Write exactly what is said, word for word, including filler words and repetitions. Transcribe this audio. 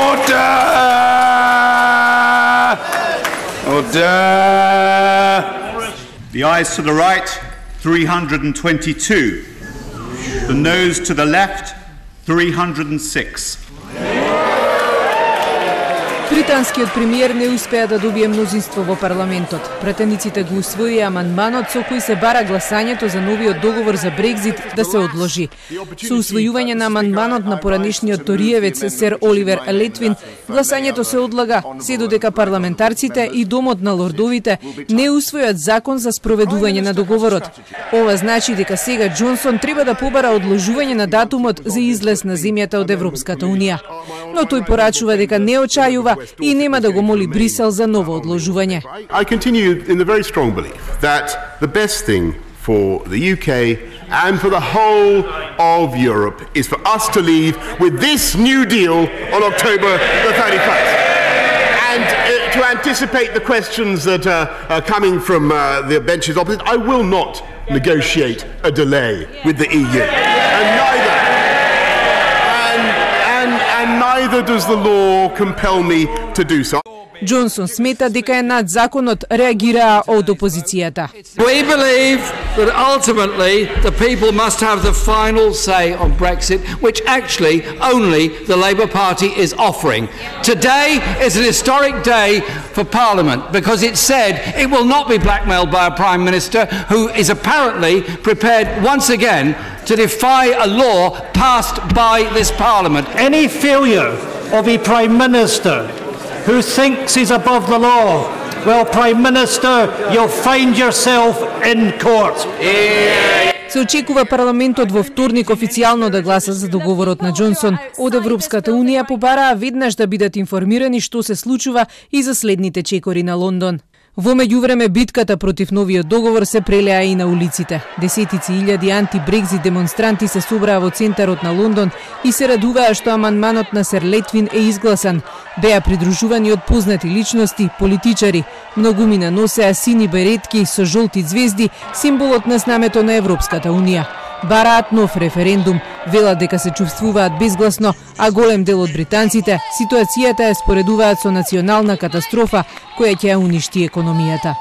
Order! Order! The ayes to the right, three hundred twenty-two. The noes to the left, three hundred six. Британскиот премиер не успеа да добие мнозинство во парламентот. Претениците го усвоија амандманот со кој се бара гласањето за новиот договор за Брекзит да се одложи. Со усвојување на амандманот на поранешниот ториевец сер Оливер Летвин, гласањето се одлага се додека парламентарците и Домот на лордовите не усвојат закон за спроведување на договорот. Ова значи дека сега Џонсон треба да побара одложување на датумот за излез на земјата од Европската унија. Но тој порачува дека не очајува и нема да го моли Брисел за ново одложување. I continue in the very strong belief that the best thing for the U K and for the whole of Europe is for us to leave with this new deal on October the thirty-first. And uh, to anticipate the questions that uh, are coming from uh, the benches opposite, I will not negotiate a delay with the E U. And neither And neither does the law compel me to do so. Џонсон смета дека е над законот, реагираа од опозицијата. We believe that ultimately the people must have the final say on Brexit, which actually only the Labour Party is offering. Today is an historic day for Parliament because it said it will not be blackmailed by a Prime Minister who is apparently prepared once again to defy a law passed by this Parliament. Any failure of a Prime Minister who thinks he's above the law, well, Prime Minister, you'll find yourself in court. Се очекува парламентот во вторник официјално да гласа за договорот на Џонсон. Од Европската унија побараа веднаш да бидат информирани што се случува и за следните чекори на Лондон. Во меѓувреме битката против новиот договор се прелеа и на улиците. Десетици илјади анти-Брекзит демонстранти се собраа во центарот на Лондон и се радуваа што амандманот на сер Летвин е изгласан. Беа придружувани од познати личности, политичари. Многумина носеа сини беретки со жолти звезди, символот на знамето на Европската унија. Бараат нов референдум, велат дека се чувствуваат безгласно, а голем дел од британците ситуацијата ја споредуваат со национална катастрофа која ќе ја уништи економијата.